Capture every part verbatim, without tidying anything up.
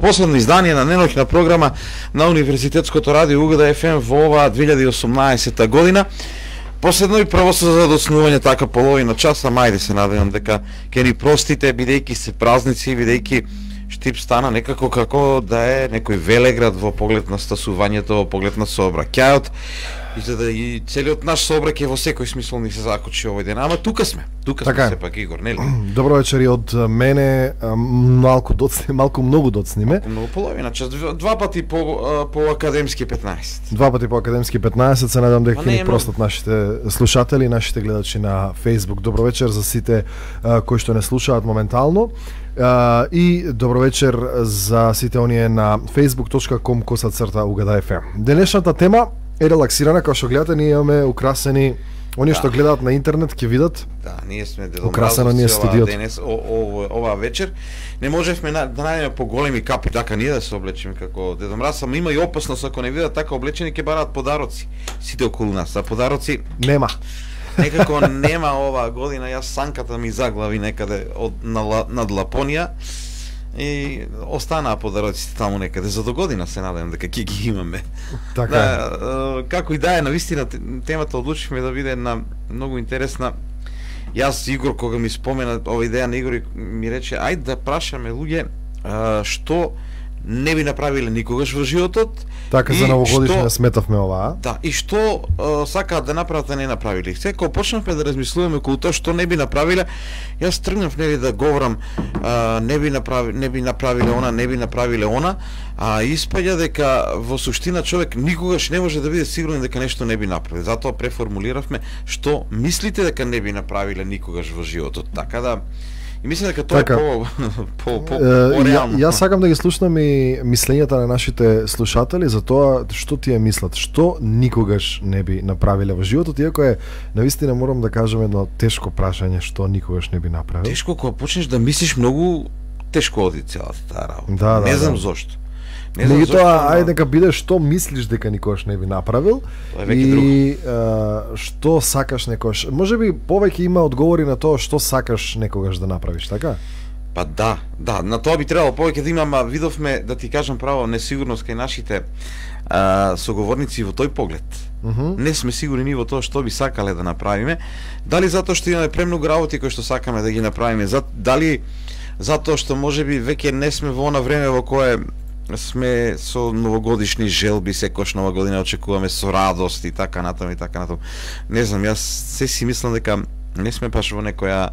Последно издание на неноќна програма на Универзитетското радио У Г Д Ф М во оваа две илјади и осумнаесета година. Последно и прво со задоцнување така половина часа, мајде се надевам дека ќе ни простите, бидејќи се празници, бидејќи Штип стана некако како да е некој велеград во поглед на стасувањето, во поглед на сообраќајот. И за да и целиот наш сообраќај во секој смисол ни се закочи овој ден. Ама тука сме, тука сме така сепак, Игор, нели? Добро вечер и од мене, малку доцни, малку многу доцниме. Многу половина час, два пати по по академски петнаесет. Два пати по академски петнаесет, се надам дека не ни е простат нашите слушатели, нашите гледачи на Facebook. Добро вечер за сите а, кои што не слушаат моментално. Uh, и добро вечер за сите оние на facebook точка com косацрта У Г Д Ф М. Денешната тема е релаксирана, како што гледате, ние имаме украсени, оние да. што гледаат на интернет ќе видат. Да, ние сме дедом украсено ние студиото денес, о, о, оваа вечер. Не можевме на, да најдеме поголеми капи така ние да се облечеме како Дедо Мраз, ама има и опасност ако не видат така облечени ќе бараат подароци. Сите околу нас, а подароци нема. Некако нема оваа година, јас санката ми заглави некаде од на, над Лапонија и останаа подароците таму некаде. За до година се надевам дека ќе ги имаме. Така. Да, како и да е, навистина темата одлучивме да биде една многу интересна. Јас Игор кога ми спомена ова идеја на Игор ми рече ајде да прашаме луѓе а, што не би направиле никогаш во животот. Така за новогодишна сметавме оваа. Да, и што а, сакаат да направат а не направиле. Секој почнавме да размислуваме околу тоа што не би направиле. Јас тргнав нели да говорам а, не би направи не би направиле она, не би направиле она, а испаѓа дека во суштина човек никогаш не може да биде сигурен дека нешто не би направил. Затоа преформулиравме што мислите дека не би направиле никогаш во животот. Така да и мислам дека тоа така. е по по по, по реално. Ја, јас сакам да ги слушнам и мислењата на нашите слушатели за тоа што тие мислат, што никогаш не би направиле во животот, иако е навистина морам да кажам едно тешко прашање што никогаш не би направил. Тешко кога почнеш да мислиш многу тешко оди целата таа работа. Да, да, не знам да. зошто. Меѓутоа, ајде дека биде што мислиш дека никогаш не би направил и а, што сакаш некогаш. Може би повеќе има одговори на тоа што сакаш некогаш да направиш, така? Па да, да, на тоа би требало повеќе да имам, видовме, да ти кажам право, несигурност кај нашите а, соговорници во тој поглед. Uh -huh. Не сме сигурни во тоа што би сакале да направиме. Дали затоа што имаме премногу работи кои што сакаме да ги направиме, дали затоа што можеби веќе не сме во она време во кое сме со новогодишни желби, секојаш нова година очекуваме со радост и така натаму и така натаму. Не знам, јас се си мислам дека не сме баш во некоја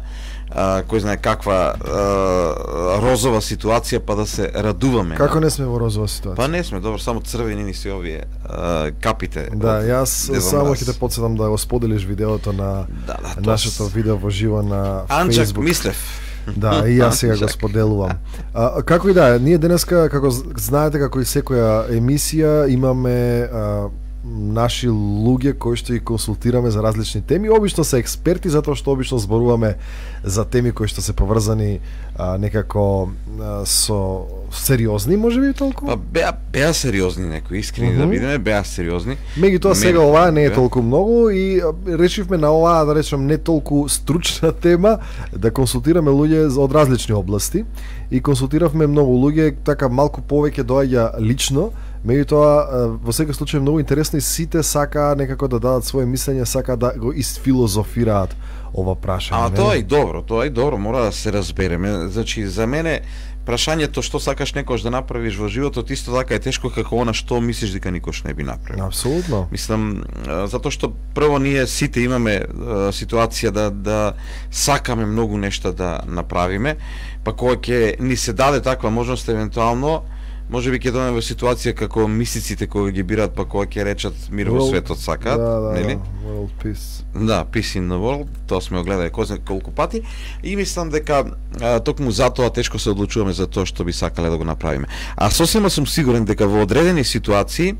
а, кој знае каква а, розова ситуација па да се радуваме. Како не сме во розова ситуација? Па не сме, добро, само црвени ни се овие а, капите. Да, јас само ќе те потсетам да го споделиш видеото на да, да, нашето видео во живо на Анчак Facebook. Мислев. Да, и јас сега го споделувам. А, како и да е, ние денеска, како знаете, како и секоја емисија, имаме а, наши луѓе кои што ги консултираме за различни теми. Обично се експерти, затоа што обично зборуваме за теми кои што се поврзани а, некако а, со сериозни, можеби толку? Па беа, беа сериозни некои, искрени uh -huh. да бидеме, беа сериозни. Меѓутоа сега оваа не е толку многу и решивме на оваа, да речем, не толку стручна тема да консултираме луѓе од различни области и консултиравме многу луѓе, така малку повеќе доаѓа лично. Меѓутоа, во секој случај многу интересно и сите сака некако да дадат своје мислење, сака да го изфилозофираат ова прашање. А тоа е и добро, тоа е и добро, мора да се разбереме. Значи, за мене прашањето што сакаш некош да направиш во животот исто така е тешко како она што мислиш дека никош не би направил. Апсолутно. Мислам, затоа што прво ние сите имаме ситуација да да сакаме многу нешта да направиме, па кога ќе ни се даде таква можност евентуално можеби ќе дојдеме во ситуација како мистиците кога ги бираат, па кога ќе речат мир во светот сакаат, да, да, нели? Да, world peace. Да, peace in the world, тоа сме го гледале кој знае колку пати и мислам дека а, токму затоа тешко се одлучуваме за тоа што би сакале да го направиме. А сосема сум сигурен дека во одредени ситуации,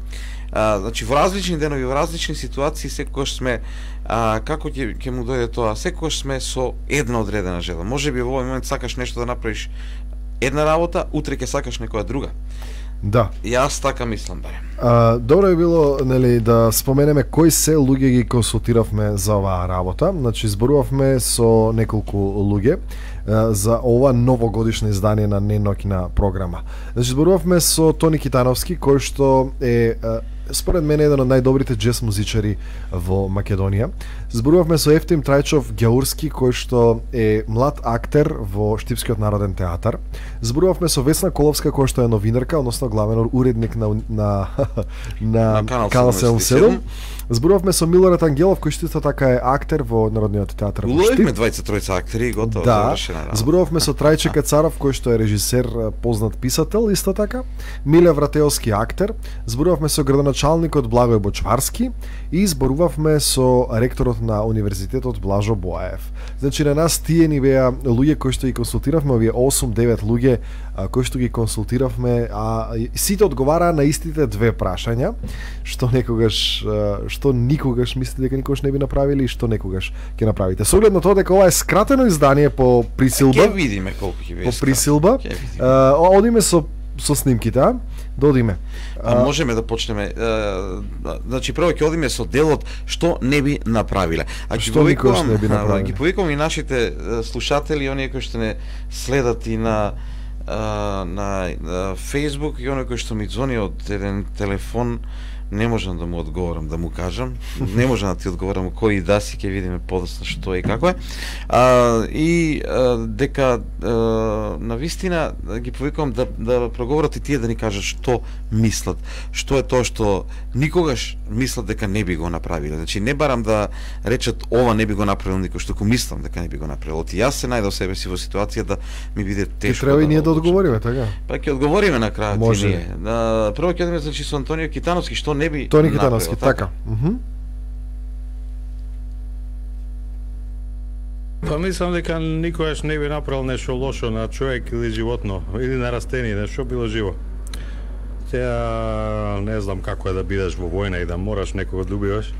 а, значи во различни денови, во различни ситуации секогаш сме а, како ќе ќе му дојде тоа, секогаш сме со една одредена жела. Можеби во овој момент сакаш нешто да направиш една работа, утре ќе сакаш некоја друга. Да. Јас така мислам барем. А, добро е било, нели, да споменеме кои се луѓе ги консултиравме за оваа работа. Значи зборувавме со неколку луѓе а, за ова новогодишно издание на Неноќна програма. Значи зборувавме со Тони Китановски, кој што е а, според мене еден од најдобрите џез музичари во Македонија. Зборувавме со Ефтим Трајчов Ѓаурски, кој што е млад актер во Штипскиот народен театар. Зборувавме со Весна Коловска, која што е новинарка, односно главен уредник на на на, на Канал седумдесет и седум. Зборувавме со Милорад Ангелов, кој што исто така е актер во Народниот театар во Штип. Уловивме двајца тројца актери, готово да, завршена работа. Зборувавме со Трајче Кацаров, кој што е режисер, познат писател, исто така. Миле Вратеовски актер. Зборувавме со градоначалникот Благој Бочварски и зборувавме со ректорот на универзитетот Блажо Боаев. Значи на нас тие ни беа луѓе кои што ги консултиравме, овие осум девет луѓе а, кои што ги консултиравме, а сите одговараа на истите две прашања, што некогаш што никогаш мислите дека никогаш не би направили и што некогаш ќе направите. Со оглед на тоа дека ова е скратено издание по присилба. Ќе видиме колку ќе биде. По присилба. А, одиме со со снимките, а? Да одиме. А, можеме да почнеме. А, значи прво ќе одиме со делот што не би направиле. А ќе повикувам, не би направиле? Ги повикувам и нашите слушатели, оние кои што не следат и на а, на, на Facebook и оние кои што ми ѕони од еден телефон. Не можам да му одговорам, да му кажам. Не можам да ти одговорам кој да си, ќе видиме подоцна што е и како е. А, и а, дека а, на вистина ги повикувам да да проговорат и тие да ни кажат што мислат. Што е тоа што никогаш мислат дека не би го направиле. Значи не барам да речат ова не би го направил никој, што ко мислам дека не би го направил. Оти јас се најдов себе си во ситуација да ми биде тешко. Ти треба да и ние да одговориме, така? Па ќе одговориме на крајот Може. и ние. На прво ќе одиме значи со Антонио Китановски што не би Тони Китановски, така. Мгм. Па мислам дека никогаш не би направил нешто лошо на човек или животно, или на растение, нешто било живо. Теа не знам како е да бидеш во војна и да мораш некого да убиваш.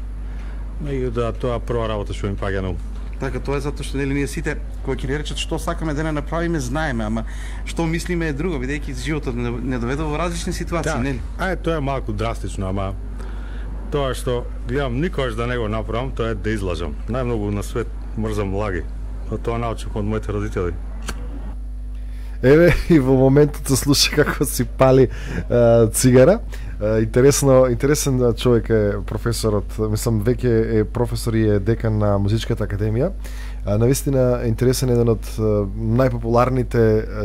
Меѓутоа тоа прва работа што ми паѓа на ум. Така, тоа е затоа што нели ние сите кои ќе ни речат што сакаме да не направиме, знаеме, ама што мислиме е друго, бидејќи животот не, не доведе во различни ситуации, Да, нели? ај тоа е малку драстично, ама тоа што гледам никогаш да не го направам, тоа е да излажам. Најмногу на свет мрзам лаги. Но тоа научив од моите родители. Еве и во моментот се слуша како си пали а, цигара. А, интересно, интересен човек е професорот, мислам веќе е професор и е декан на Музичката академија. А, навистина е интересен еден од најпопуларните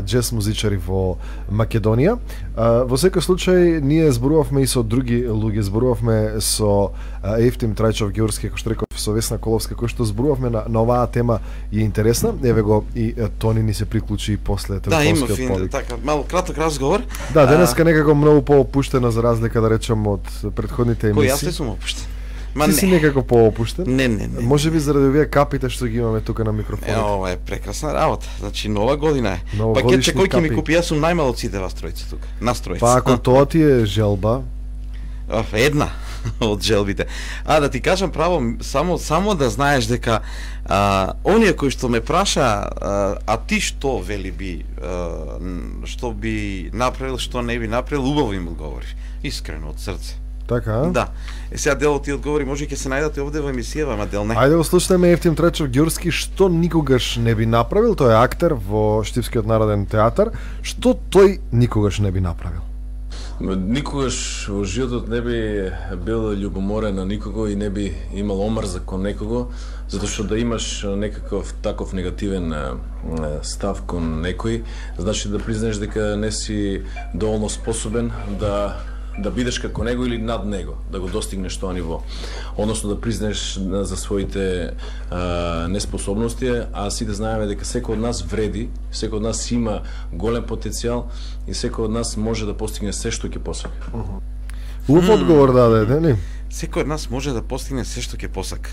џез музичари во Македонија. А, во секој случај ние зборувавме и со други луѓе, зборувавме со а, Ефтим Трајчов Ѓаурски, кој што реков, со Весна Коловска, кој што зборувавме на, на оваа тема и е интересна. Еве го и е, Тони ни се приклучи после Да, има телефонскиот фин, повик. така, малку краток разговор. Да, денеска некако многу поопуштено за разлика да речем од претходните Кој јас емисии. не сум опуштен. Ма Ти не. си некако поопуштен? Не, не, не. Може би заради овие капите што ги имаме тука на Е, микрофонот. ова е прекрасна работа. Значи нова година е. Новогодишни Пакетче кој ќе ми капи. купи, јас сум најмал од сите вас тројца тука. Нас тројца. Па ако тоа ти е желба, Оф, една од желбите. А да ти кажам право, само само да знаеш дека а, оние кои што ме праша, а, а ти што вели би, а, што би направил, што не би направил, убаво им одговориш. Искрено од срце. така, а? Да. Е сега делот ти одговори, може ќе се најдете овде во емисијава, ама дел не. Ајде го слушнеме Ефтим Трајчов Ѓаурски, што никогаш не би направил, тој е актер во Штипскиот народен театар, што тој никогаш не би направил. Никогаш во животот не би бил љубоморен на никого и не би имал омрза кон некого, затоа што да имаш некаков таков негативен е, став кон некој, значи да признаеш дека не си доволно способен да да бидеш како него или над него, да го достигнеш тоа ниво. Односно да признаеш за своите а, неспособности, а сите знаеме дека секој од нас вреди, секој од нас има голем потенцијал и секој од нас може да постигне се што ќе посака. Убав одговор даде, нели? Секој од нас може да постигне се што ќе посака.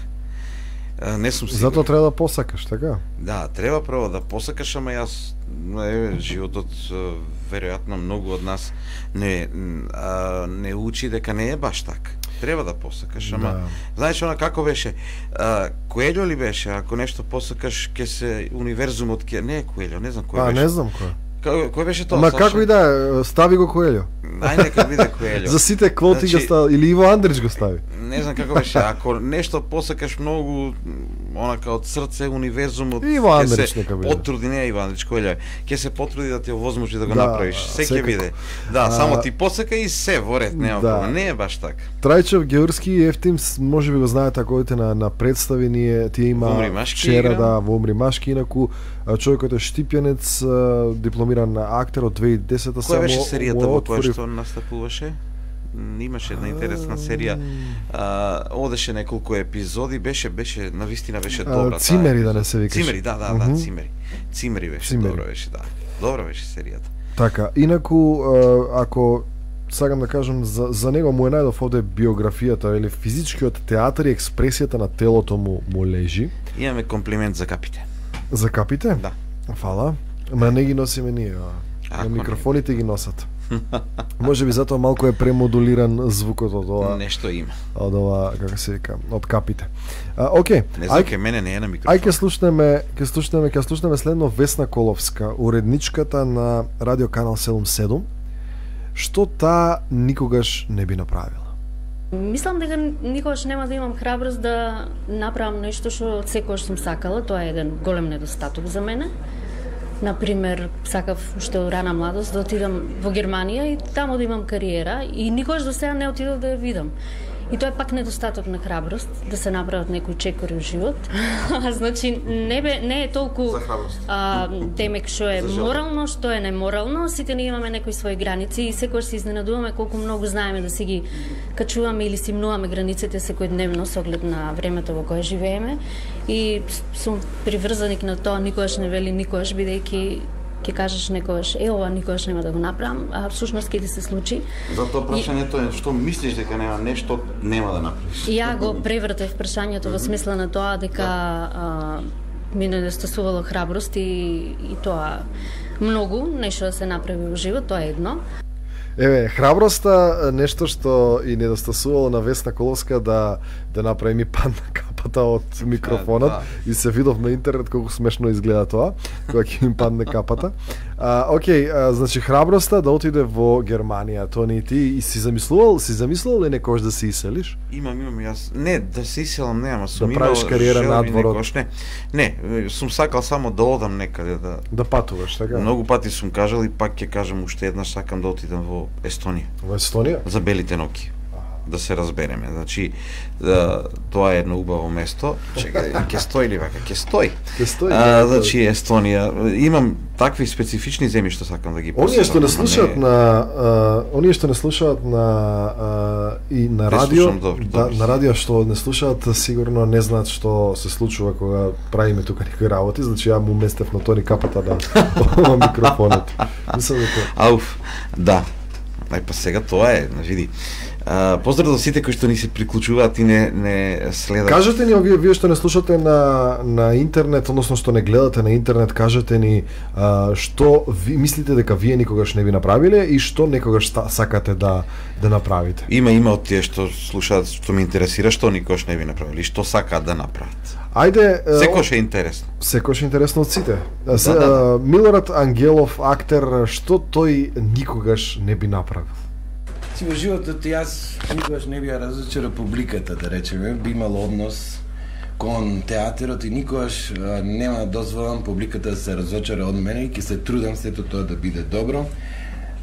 А, не сум сигурен. Затоа треба да посакаш, така? Да, треба прво да посакаш, ама јас е, животот е, веројатно многу од нас не а, не учи дека не е баш така. Треба да посакаш, ама Да. знаеш она како беше? А, Коелјо ли беше? Ако нешто посакаш, ќе се универзумот ќе не е Коелјо, не знам кој А, беше. не знам кој. Ка- Кој беше тоа? Ма Саша? како и да е, стави го Коелјо. Ај нека биде Коелјо. За сите квоти Значи, го стави или Иво Андрич го стави. Не знам како беше, ако нешто посакаш многу онака од срце универзумот, Иво ќе Андрич се нека биде. потруди, не Иво Андрич Коелјо, ќе се потруди да ти овозможи да го Да, направиш. Се ќе секако. биде. Да, А, само ти посака и се во ред, нема да. проблем. Не е баш така. Трајчев, Георски и Ефтим, с- може би го знаете ако одите на, на представи, ние тие има Во Умри-Машки вчера игра. да во Умри Машки, инаку а, човекот е штипјанец, а, дипломиран актер од две илјади и десета. Која беше само серијата му во која отвори- што настапуваше? М, Имаше една интересна серија. А, одеше неколку епизоди, беше беше навистина беше А, добра. таа Цимери, да епизода. не се викаше. Цимери, да, да, Мгм. да, Цимери. Цимери беше, Цимери. добра беше, да. Добра беше серијата. Така, инаку а, ако сакам да кажам за, за него му е најдов овде биографијата или физичкиот театар и експресијата на телото му му лежи. Имаме комплимент за капите. За капите? Да. Фала. Ма не ги носиме ние, а. Ако На не. микрофоните ги носат. Може би затоа малку е премодулиран звукот од ова, Нешто има. од ова, како се вика, од капите. А, окей. Не знам, Ај, ке мене не е на ај микрофон. ќе слушнеме, ќе слушнеме, ќе слушнеме следно Весна Коловска, уредничката на Радио Канал седумдесет и седум, што таа никогаш не би направила. Мислам дека никогаш нема да имам храброст да направам нешто што секогаш сум сакала, тоа е еден голем недостаток за мене. Например, сакав уште од рана младост да отидам во Германија и таму да имам кариера и никогаш до сега не отидов да ја видам. И тоа е пак недостаток на храброст, да се направат некои чекори во живот. Значи, не, бе, не е толку За храброст. а, темек што е За желба. морално, што е неморално, сите ние имаме некои своји граници и секогаш се изненадуваме колку многу знаеме да си ги качуваме или си мнуваме границите секојдневно со оглед на времето во кое живееме. И сум приврзаник на тоа, никогаш не вели никогаш, бидејќи ќе кажеш некогаш, е, ова никогаш нема да го направам, а всушност ќе ти се случи. Затоа прашањето е што мислиш дека нема нешто нема да направиш. И ја го превртев прашањето во смисла на тоа дека а, ми недостасувало храброст и, и тоа многу нешто да се направи во живот, тоа е едно. Еве, храброста нешто што и недостасувало на Весна Коловска да да направи ми падна капата од микрофонот Да. и се видов на интернет колку смешно изгледа тоа кога ќе ми падне капата. А, окей, а, значи храброста да отиде во Германија, тоа не и ти и си замислувал, си замислувал ли некогаш да се иселиш? Имам, имам јас. Не, да се иселам нема, сум Да имал правиш кариера желби надвор од- некогаш, Не, не, сум сакал само да одам некаде да. Да патуваш, така? Многу пати сум кажал и пак ќе кажам уште еднаш сакам да отидам во Естонија Во Естонија? за белите ноки. Да се разбереме. Значи, да, тоа е едно убаво место. Чекај, ќе стои ли вака? Ќе стои. Ќе стои. А, ќе значи Естонија, имам такви специфични земји што сакам да ги посетам. Оние што не ама слушаат на а, оние што не слушаат на а, и на Не радио, слушам, добро, да, добро. на радио што не слушаат, сигурно не знаат што се случува кога правиме тука некои работи, значи ја му местев на тони капата да ова микрофонот. Мислам дека Ауф, да. Ај па сега тоа е, види. А, поздрав до сите кои што ни се приклучуваат и не не следат. кажете ни овие вие што не слушате на на интернет, односно што не гледате на интернет, кажете ни а, што ви мислите дека вие никогаш не би направиле и што некогаш ста, сакате да да направите. Има има од тие што слушаат, што ме интересира, што никош не би направили, што сакаат да направат. Ајде, е, Секош е интересно. секош интересно од сите. А, се, Да, да, да. а, Милорад Ангелов, актер, што тој никогаш не би направил? Си во животот јас никогаш не би ја разочарал публиката, да речеме, би имал однос кон театарот и никогаш а, нема да дозволам публиката да се разочара од мене и ќе се трудам сето тоа да биде добро.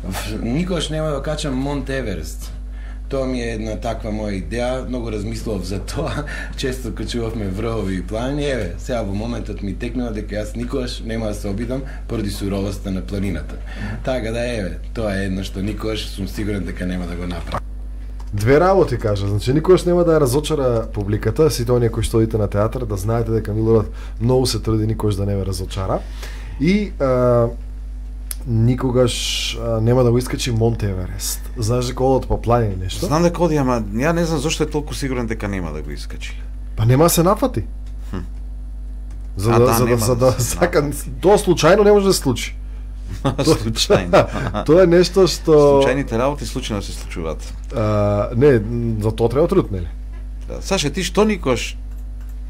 В- Никогаш нема да качам Монт Еверест. Тоа ми е една таква моја идеја, многу размислував за тоа, често качувавме врвови и планини, еве, сега во моментот ми текнува дека јас никогаш нема да се обидам поради суровоста на планината. Така да еве, тоа е едно што никогаш сум сигурен дека нема да го направам. Две работи кажа, значи никогаш нема да ја разочара публиката, сите оние кои што одите на театар, да знаете дека Милорад многу се труди никогаш да не ве разочара. И а, никогаш а, нема да го искачи Монт Еверест. Знаеш дека одат по планини нешто? Знам дека оди, ама ја не знам зошто е толку сигурен дека нема да го искачи. Па нема да се нафати. За А, да, да, за да, нема за да да се сака, нафати. тоа случајно не може да се случи. Случајно. Тоа е нешто што Случајните работи случајно се случуваат. а, не, за тоа треба труд, нели? Да. Саше, ти што никош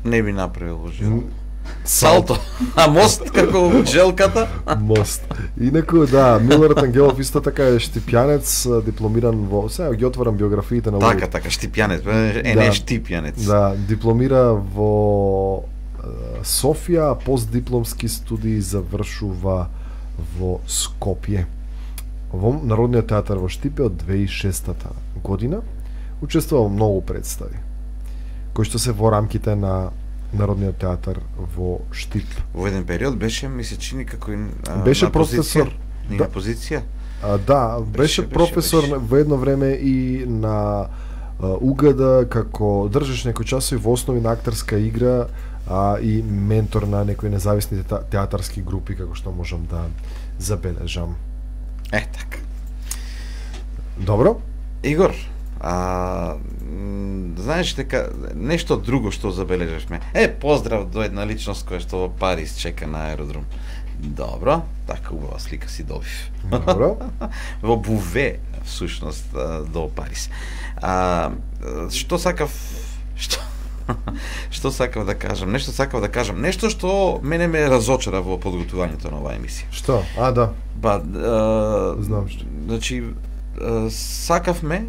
не би направил во живот? Салто. А мост како джелката? Мост. Инаку, да, Милорад Ангелов исто така е штипјанец, дипломиран во... Сега ги отварам биографиите на Така, така, штипјанец, е не штипјанец. Да, дипломира во Софија, постдипломски студии завршува во Скопје. Во Народниот театар во Штипе од две тисячи и шестата година учествувал многу представи, кои што се во рамките на Народниот театар во Штип. Во еден период беше, ми се чини како а, беше на професор, позиција, да, на позиција. А, да, беше, беше професор беше. Во едно време и на а, УГД, како држиш некои часови во основи на актерска игра, а и ментор на некои независни театарски групи, како што можам да забележам. Е, така. Добро. Игор, а, знаеш дека нешто друго што забележавме. Е, поздрав до една личност која што во Париз чека на аеродром. Добро, така убава слика си добив. Добро. Во Буве, всушност, до Париз. А, што сакав... Што... што сакав да кажам? Нешто сакав да кажам. Нешто што мене ме разочара во подготвувањето на оваа емисија. Што? А, да. Ба, а, знам што. Значи, а, сакавме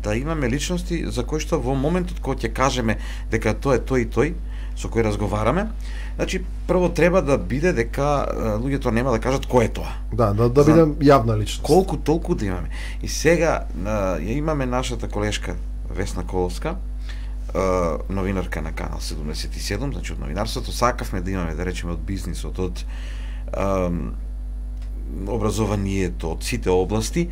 да имаме личности за кои што во моментот кога ќе кажеме дека тоа е тој и тој, со кој разговараме, значи прво треба да биде дека луѓето нема да кажат кој е тоа. Да, да, да биде јавна личност. Колку толку да имаме. И сега а, ја имаме нашата колешка Весна Коловска, новинарка на Канал седумдесет и седум, значи од новинарството, сакавме да имаме, да речеме, од бизнисот, од ам, образованието, од сите области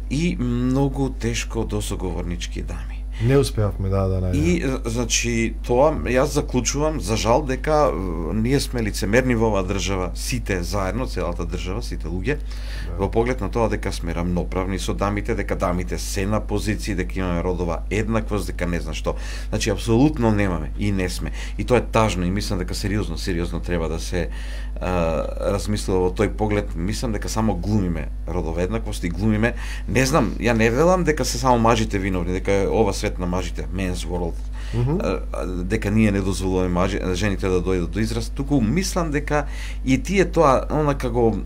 и многу тешко до соговорнички дами. Не успеавме, да, да, најдеме. И, значи, тоа, јас заклучувам, за жал, дека ние сме лицемерни во оваа држава, сите заедно, целата држава, сите луѓе, да, во поглед на тоа дека сме рамноправни со дамите, дека дамите се на позиции, дека имаме родова еднаквост, дека не знам што. Значи, апсолутно немаме и не сме. И тоа е тажно и мислам дека сериозно, сериозно треба да се а, размислува во тој поглед. Мислам дека само глумиме родова еднаквост и глумиме, не знам, ја не велам дека се само мажите виновни, дека е ова свет на мажите, men's world, mm -hmm. дека ние не дозволуваме мажи, жените да дојдат до израз, туку мислам дека и тие тоа онака го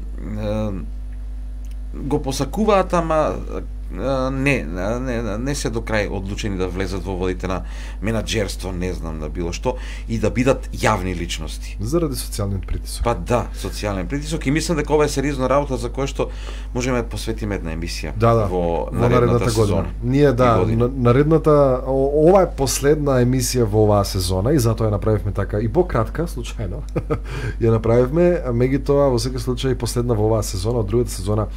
го посакуваат, ама не, не, не се до крај одлучени да влезат во водите на менаџерство, не знам, на било што, и да бидат јавни личности. Заради социјалниот притисок. Па да, социјален притисок, и мислам дека ова е сериозна работа за која што можеме да посветиме една емисија, да, да, во наредната сезона. Ние, да, наредната, ова е последна емисија во оваа сезона и затоа ја направивме така и пократка, случајно. Ја направивме, меѓутоа во секој случај последна во оваа сезона, од другата сезона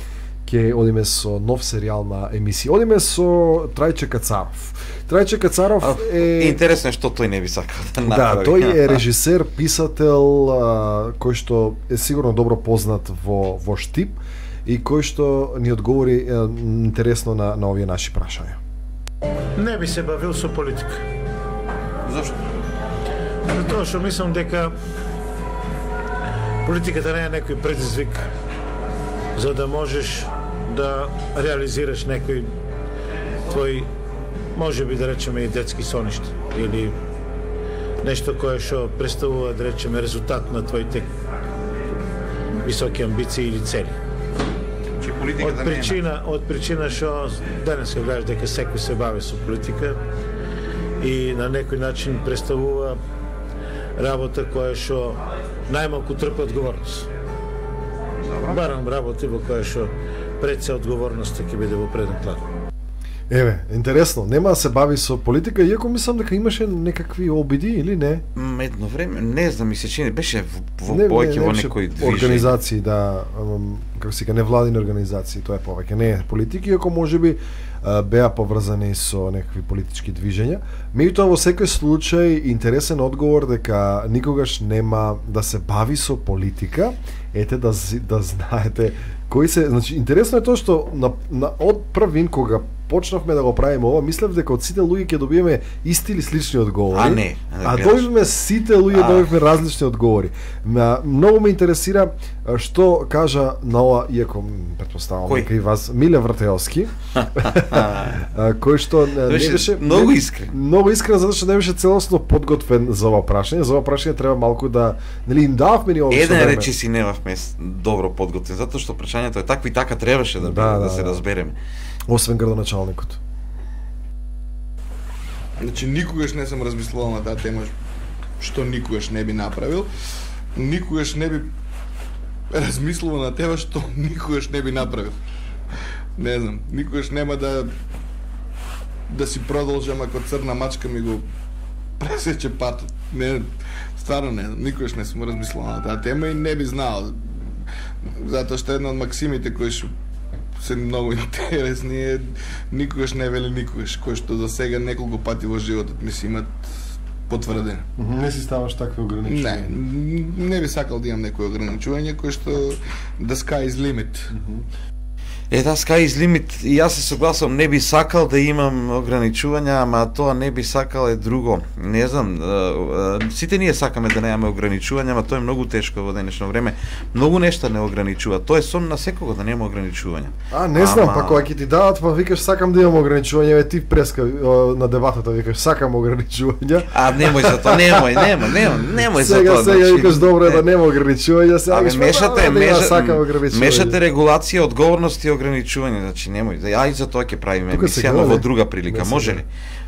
ќе одиме со нов серијал на емисија. Одиме со Трајче Кацаров. Трајче Кацаров е... Интересно е што тој не би сакал да направи. Да, тој е режисер, писател, а, кој што е сигурно добро познат во, во Штип и кој што ни одговори е, интересно на, на овие наши прашања. Не би се бавил со политика. Зашто? Затоа што мислам дека политиката не е некој предизвик за да можеш да реализираш некој твој, може би да речеме и детски соништа или нешто кое што представува, да речеме, резултат на твоите високи амбиции или цели. Од причина, од причина што денес се гледаш дека секој се бави со политика и на некој начин представува работа која што најмалку трпи одговорност. Барам работи во која што пред се одговорноста ќе биде во преден план. Еве, интересно, нема да се бави со политика, иако мислам дека имаше некакви обиди или не? М, едно време, не знам, ми се чини, беше во повеќе во некој движење. Организации, да, како се ка невладини организации, тоа е повеќе, не е политики, иако можеби беа поврзани со некакви политички движења. Меѓутоа во секој случај интересен одговор дека никогаш нема да се бави со политика. Ете да да знаете кои се, значи интересно е тоа што на, на од првин кога почнавме да го правиме ова, мислев дека од сите луѓе ќе добиеме исти или слични одговори. А не, а добивме сите луѓе а... добивме различни одговори. Ма, многу ме интересира што кажа на ова, иако претпоставам дека и вас, Миле Вртеовски, кој што не беше многу искрен. Многу искрен затоа што не беше целосно подготвен за ова прашање. За ова прашање треба малку да, нели, им дававме ни ова. Еден речи си немавме добро подготвен, затоа што прашањето е такво и така требаше да, да, да, да се да. разбереме. Освен градоначалникот. Значи никогаш не сум размислувал на таа тема што никогаш не би направил. Никогаш не би размислувал на тема што никогаш не би направил. Не знам, никогаш нема да да си продолжам ако црна мачка ми го пресече патот. Не, стварно не, никогаш не сум размислувал на таа тема и не би знаел. Затоа што една од максимите кои што се многу интересни е никогаш не вели никогаш, кој што за сега неколку пати во животот ми се имат потврдено. Не си ставаш такви ограничувања? Не, не би сакал да имам некои ограничување кој што the sky is limit. Е, да, sky is limit, и јас се согласувам, не би сакал да имам ограничувања, ама тоа не би сакал е друго. Не знам, сите ние сакаме да немаме ограничувања, ама тоа е многу тешко во денешно време. Многу нешта не ограничува. Тоа е сон на секого да нема ограничувања. А, не знам, ама... па кога ќе ти дадат, па викаш сакам да имам ограничувања, е ти преска на дебатата викаш сакам ограничувања. А, немој за тоа, немој, немој, немој, немој за сега, тоа. Сега сега викаш добро е да нема ограничувања, сега викаш мешате, мешате, мешате регулација, одговорност и ограничување, значи немој. Ја и за тоа ќе правиме емисија, но во друга прилика. Може ли?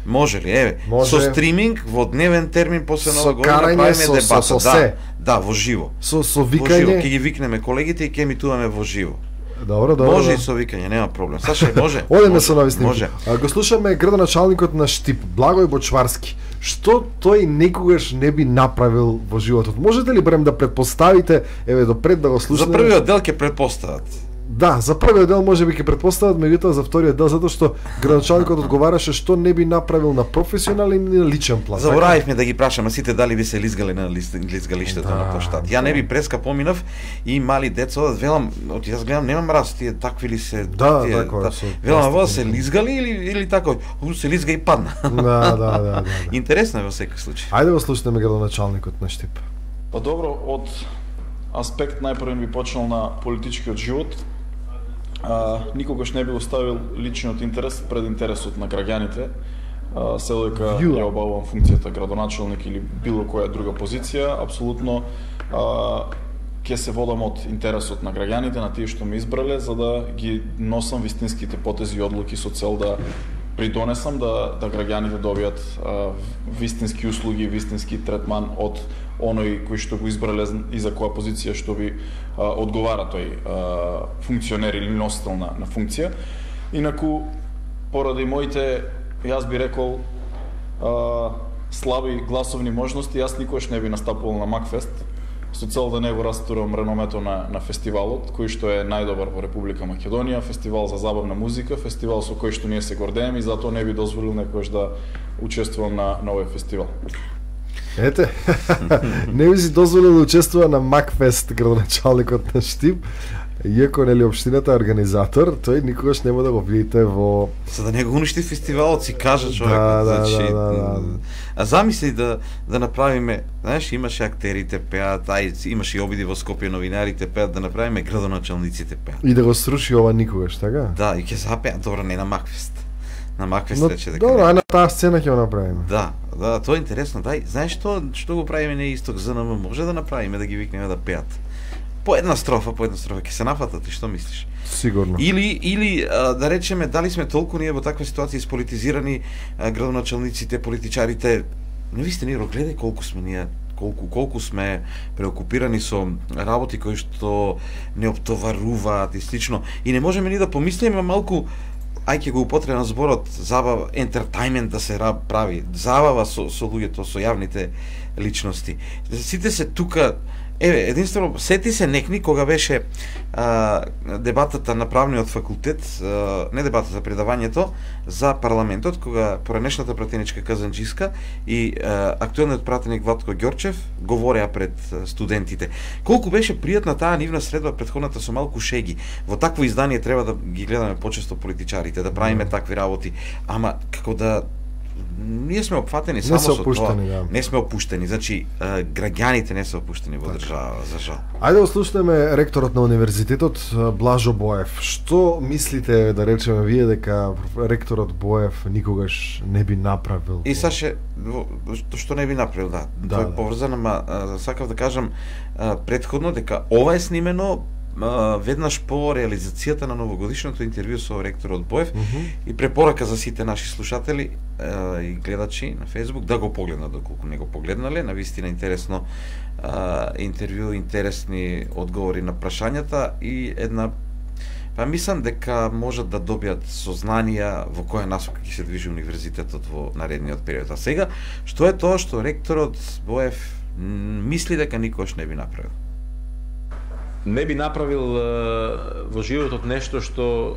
Може ли? Еве, може... со стриминг во дневен термин после нова година правиме со, дебата. Со, со, да, да, во живо. Со со викање. Во живо, ќе ги викнеме колегите и ќе емитуваме во живо. Добро, добро. Може и со викање, нема проблем. Саша, може. Одеме со нови снимки. Може. А, го слушаме градоначалникот на Штип, Благој Бочварски. Што тој никогаш не би направил во животот? Можете ли барем да претпоставите, еве допред да го слушаме? За првиот дел ќе претпостават. Да, за првиот дел може би ќе претпостават, меѓутоа за вториот дел затоа што градоначалникот одговараше што не би направил на професионален и на личен план. Заборавивме да ги прашаме сите дали би се лизгале на лизгалиштето да, на площад. Ја не би преска поминав и мали деца одат, велам, од јас гледам немам раз тие такви ли се да, тие, да, да, велам во се лизгали или или тако, у се лизга и падна. Да, да, да, да, да. Интересно е во секој случај. Ајде го слушнеме градоначалникот на Штип. Па добро, од аспект најпрвен би почнал на политичкиот живот. А, никогаш не би оставил личниот интерес пред интересот на граѓаните, се дека ја обавувам функцијата градоначалник или било која друга позиција, апсолутно ќе се водам од интересот на граѓаните, на тие што ме избрале, за да ги носам вистинските потези и одлуки со цел да придонесам да, да граѓаните добијат а, вистински услуги, вистински третман од оној кој што го избрале и за која позиција што ви а, одговара тој а, функционер или носител на, на функција. Инаку, поради моите, јас би рекол, а, слаби гласовни можности, јас никогаш не би настапувал на Макфест, со цел да не го растурам реномето на, на фестивалот, кој што е најдобар во Република Македонија, фестивал за забавна музика, фестивал со кој што ние се гордееме и затоа не би дозволил некојаш да учествувам на, на овој фестивал. Ете, не би си дозволил да учествува на Макфест, градоначалникот на Штип, иако нели општината е организатор, тој никогаш нема да го видите во... За да не го уништи фестивалот, си кажа човек. Да, да, значи, да, да, да. А замисли да да направиме, знаеш, имаше актерите пеат, ај имаше и обиди во Скопје, новинарите пеат, да направиме градоначалниците пеат. И да го сруши ова никогаш, така? Да, и ќе запеат, добро, не на Макфест. На Макфест Но, рече дека. Добро, а на таа сцена ќе го направиме. Да, да, тоа е интересно. Дај, знаеш што, што го правиме не исток ЗНМ, може да направиме да ги викнеме да пеат. По една строфа, по една строфа ќе се нафатат, и што мислиш? Сигурно. Или или а, да речеме дали сме толку ние во таква ситуација сполитизирани, а, градоначалниците, политичарите. Не висте ни гледај колку сме ние, колку колку сме преокупирани со работи кои што не оптоваруваат и слично. И не можеме ни да помислиме малку, ај ќе го употребам зборот забава, ентертајмент да се прави, забава со со луѓето, со јавните личности. Сите се тука Еве, единствено, сети се некни кога беше а, дебатата на правниот факултет, а, не дебатата, предавањето за парламентот, кога поранешната пратеничка Казанџиска и а, актуелниот пратеник Владко Ѓорчев говореа пред студентите. Колку беше пријатна таа нивна средба претходната со малку шеги. Во такво издание треба да ги гледаме почесто политичарите, да правиме mm. такви работи, ама како да ние сме опфатени само со тоа. Да. Не сме опуштени. Значи, граѓаните не се опуштени во држава, за жал. Ајде да слушнеме ректорот на универзитетот Блажо Боев. Што мислите, да речеме вие, дека ректорот Боев никогаш не би направил? И Саше, што не би направил, да. да Тоа е поврзано, ама сакав да кажам претходно дека ова е снимено веднаш по реализацијата на новогодишното интервју со ректорот Боев mm -hmm. и препорака за сите наши слушатели е, и гледачи на Facebook да го погледнат, доколку не го погледнале. Навистина интересно е, интервју, интересни одговори на прашањата и една, па мислам дека можат да добијат сознанија во која насока ќе се движи универзитетот во наредниот период. А сега, што е тоа што ректорот Боев мисли дека никош не би направил? Не би направил во животот нешто што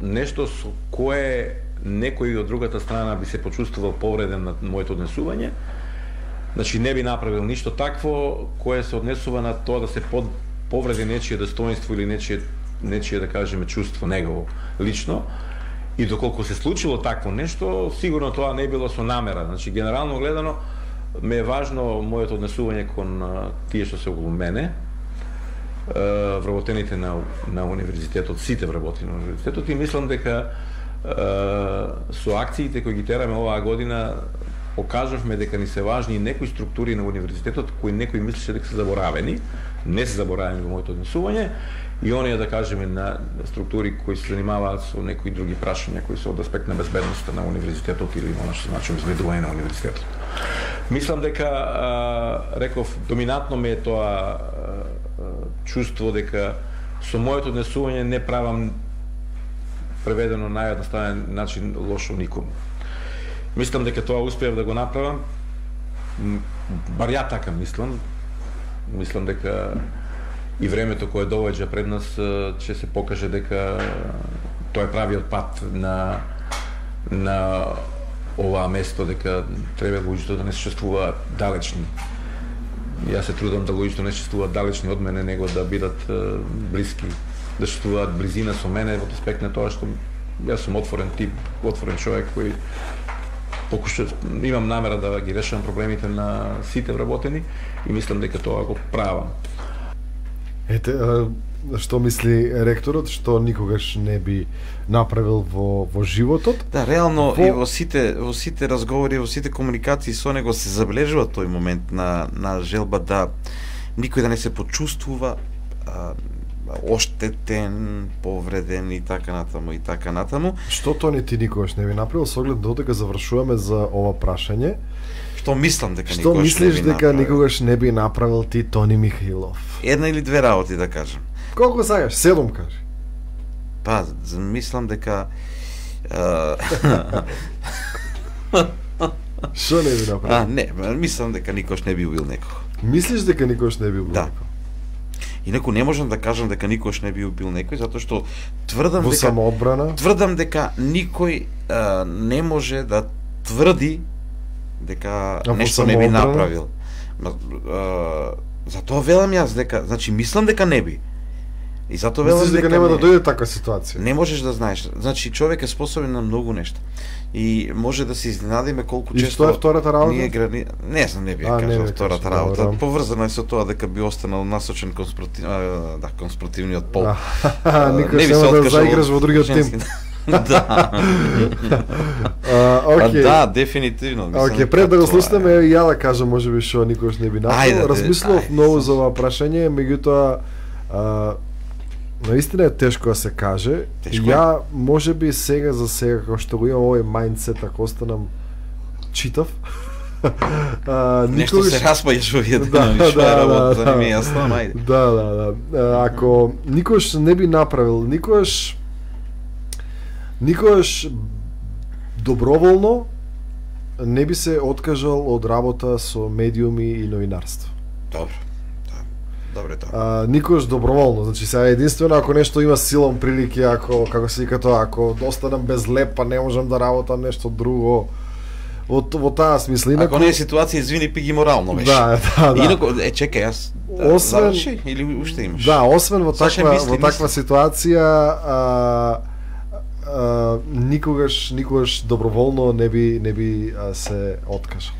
нешто со кое некој од другата страна би се почувствувал повреден на моето однесување. Значи не би направил ништо такво кое се однесува на тоа да се под повреди нечие достоинство или нечие нечие да кажеме чувство негово лично. И доколку се случило такво нешто, сигурно тоа не било со намера. Значи генерално гледано ме е важно моето однесување кон тие што се околу мене, вработените на, на универзитетот, сите вработени на универзитетот, и мислам дека е, со акциите кои ги тераме оваа година покажавме дека ни се важни некои структури на универзитетот кои некои мислеше дека се заборавени, не се заборавени во моето однесување, и оние, да кажеме, на структури кои се занимаваат со некои други прашања кои се од аспект на безбедноста на универзитетот или она што значи обезбедување на универзитетот. Мислам дека, а, реков, доминантно ме е тоа чувство дека со моето однесување не правам, преведено на наједноставен начин, лошо никому. Мислам дека тоа успеав да го направам, бар ја така мислам. Мислам дека и времето кое доаѓа пред нас ќе се покаже дека тоа е правиот пат на на оваа место, дека треба луѓето да не се чувствуваат далечни. Јас се трудам да луѓето не се чувствуваат далечни од мене, него да бидат блиски, да чувствуваат близина со мене во аспект на тоа што јас сум отворен тип, отворен човек кој покушав, имам намера да ги решавам проблемите на сите вработени и мислам дека тоа го правам. Ете, што мисли ректорот, што никогаш не би направил во во животот? Да, реално во... и во сите во сите разговори, во сите комуникации со него се забележува тој момент на на желба да никој да не се почувствува а, оштетен, повреден и така натаму и така натаму. Што тоа не ти никогаш не би направил, со оглед додека завршуваме за ова прашање? Што мислам дека Што никогаш мислиш не би дека направил? никогаш не би направил ти, Тони Михаилов? Една или две работи да кажам. Колку сакаш? Седум кажи. Па, мислам дека Што не би направил? А, не, мислам дека никош не би убил некој. Мислиш дека никош не би убил Да. некој? Инаку не можам да кажам дека никош не би убил некој, затоа што тврдам Во дека самоодбрана? тврдам дека никој а, не може да тврди дека во нешто не би самоодбрана? направил. Ма, а, затоа велам јас дека, значи мислам дека не би. И затоа велам Мислиш дека дека нема не, да дојде таква ситуација? не можеш да знаеш. Значи човек е способен на многу нешта. И може да се изненадиме колку И често што е втората работа? ние грани... Не знам, не би А, ја не кажал би втората кажал, работа. добро. Поврзано е со тоа дека би останал насочен кон спротив... а, да, кон спротивниот пол. А, никош не би нема се да откажал заиграш во другиот женски. тим. Да. А, Па окей. да, дефинитивно. Мислам Окей, дека пред да го тоа е. слушнеме, ја да кажам можеби што никош не би Ајде, направил. ајде, Размислував ајде, многу сам за ова прашање, меѓутоа а, наистина е тешко да се каже. Тешко Ја можеби сега за сега како што го имам овој мајндсет, ако останам читав, а, Нешто никогаш- се распаѓаш во овие Да, денови, што да, е работа, да, не ми е да. јасно, ама ајде. Да, да, да. А, Ако никош не би направил, никош никош доброволно не би се откажал од работа со медиуми и новинарство. Добро. Добре тоа. А, никош доброволно, значи сега единствено ако нешто има силом прилики, ако како се вика тоа, ако останам без леп, па не можам да работам нешто друго. Во, во таа смисла. Инако... Ако не е ситуација, извини, пи ги морално беше. Да, да, да. Инако, е, чекај, јас да, освен, заврши или уште имаш? Да, освен во Саша, таква, мисли, во таква мисли. ситуација, а, а, никогаш, никогаш доброволно не би, не би а, се откажал.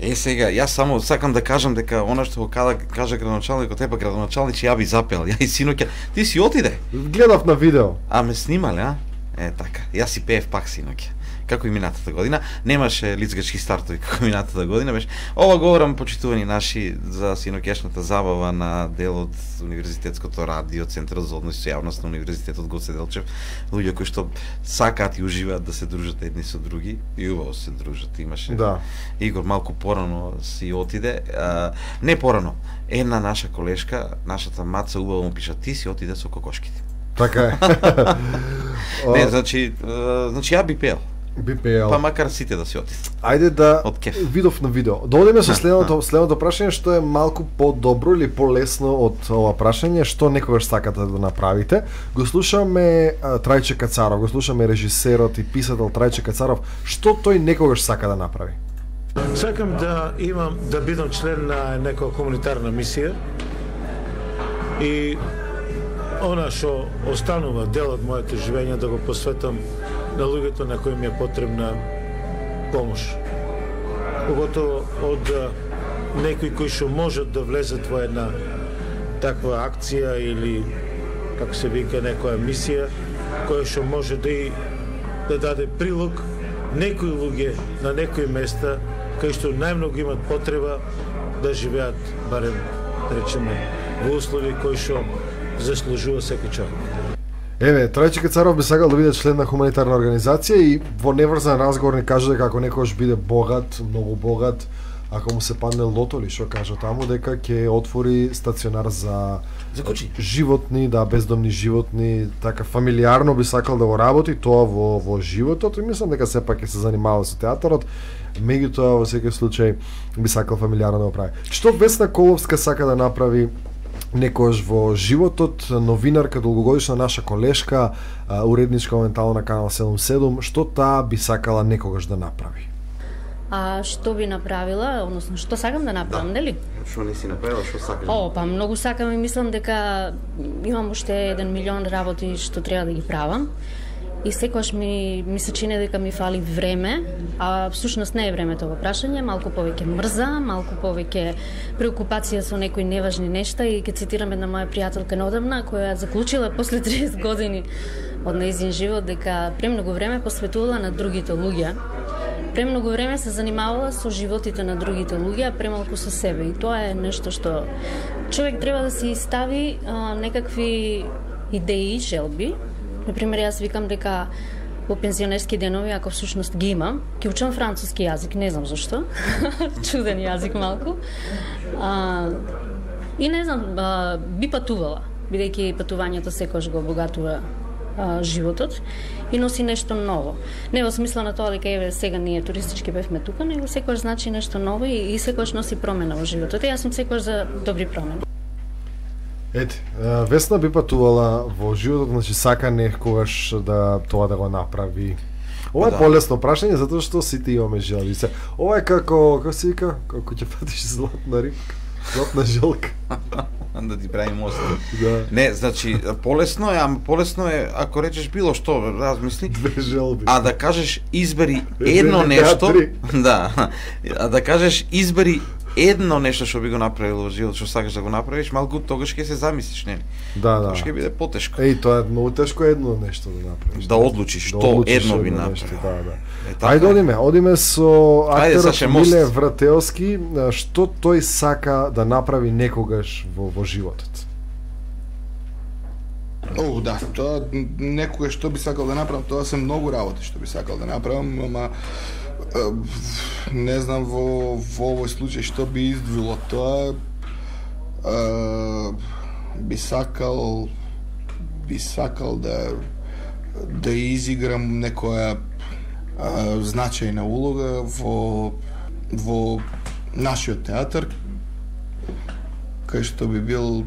Е, сега, јас само сакам да кажам дека она што го кажа, кажа градоначалникот, епа градоначалник, ја би запел, ја и синоќа, ти си отиде. Гледав на видео. А ме снимале, а? Е, така. Јас си пеев пак синоќа. Како и минатата година, немаше лицгачки стартови како минатата година, беше. Ова говорам почитувани наши за синоќешната забава на дел од Универзитетското радио, Центарот за односи со јавност на Универзитетот Гоце Делчев, луѓе кои што сакаат и уживаат да се дружат едни со други и убаво се дружат. Имаше да. Игор малку порано си отиде, а, не порано. Една наша колешка, нашата маца убаво му пиша, ти си отиде со кокошките. Така е. Не, значи, значи ја би пеел. Би пеел. Па макар сите да си отидат. Ајде да од видов на видео. Да одиме со следното следното прашање што е малку подобро или полесно од ова прашање, што некогаш сакате да направите. Го слушаме а, Трајче Кацаров, го слушаме режисерот и писател Трајче Кацаров, што тој некогаш сака да направи. Сакам да имам да бидам член на некоја комунитарна мисија и она што останува дел од моето живење да го посветам на луѓето на кои ми е потребна помош. Поготово од некои кои што можат да влезат во една таква акција или како се вика некоја мисија која што може да и да даде прилог некои луѓе на некои места кои што најмногу имат потреба да живеат барем речеме во услови кои што заслужува секој човек. Еве, Трајче Кацаров би сакал да биде член на хуманитарна организација и во неврзан разговор ни кажа дека ако некојаш биде богат, многу богат, ако му се падне лото или што кажа таму, дека ќе отвори стационар за за кучи, животни, да, бездомни животни, така фамилиарно би сакал да го работи тоа во во животот и мислам дека сепак ќе се занимава со театарот. Меѓутоа во секој случај би сакал фамилиарно да го прави. Што Весна Коловска сака да направи некојаш во животот, новинарка, долгогодишна наша колешка, уредничка моментално на канал седумдесет и седум, што таа би сакала некогаш да направи? А што би направила, односно што сакам да направам, нели? Што не си направила, што сакаш? О, па многу сакам и мислам дека имам уште еден милион работи што треба да ги правам. И секогаш ми, ми се чини дека ми фали време, а всушност не е времето во прашање, малку повеќе мрза, малку повеќе преокупација со некои неважни нешта и ќе цитирам една моја пријателка неодамна која заклучила после триесет години од нејзин живот дека премногу време посветувала на другите луѓе. Премногу време се занимавала со животите на другите луѓе, а премалку со себе. И тоа е нешто што човек треба да си стави а, некакви идеи, желби. Например, јас викам дека во пензионерски денови, ако всушност ги имам, ќе учам француски јазик, не знам зашто. Чуден јазик малку. А, и не знам, а, би патувала, бидејќи патувањето секогаш го обогатува а, животот и носи нешто ново. Не во смисла на тоа дека еве сега ние туристички бевме тука, него секогаш значи нешто ново и, и секогаш носи промена во животот. И јас сум секогаш за добри промени. Ете, Весна би патувала во животот, значи сака некогаш да тоа да го направи. Ова е да. полесно прашање затоа што сите имаме желби. Ова е како, како се вика, како ќе патиш златна рибка, златна жилка. Да ти прави мост. Да. Не, значи полесно е, ама полесно е ако речеш било што, размисли. Две желби. А да кажеш избери едно нешто, да. А да кажеш избери едно нешто што би го направил во живот, што сакаш да го направиш, малку тогаш ќе се замислиш, нели? Да, да. Тоа ќе биде потешко. Еј, тоа е многу тешко едно нешто да направиш. Да одлучиш да што одлучиш едно би нешто, направил. Да, да. Е, така Ајде е. одиме, одиме со актерот Миле мост. Врателски, што тој сака да направи некогаш во во животот. О, да, тоа некогаш што би сакал да направам, тоа се многу работи што би сакал да направам, ама не знам во, во овој случај што би издвило тоа. Е, би сакал би сакал да да изиграм некоја е, значајна улога во во нашиот театар, кај што би бил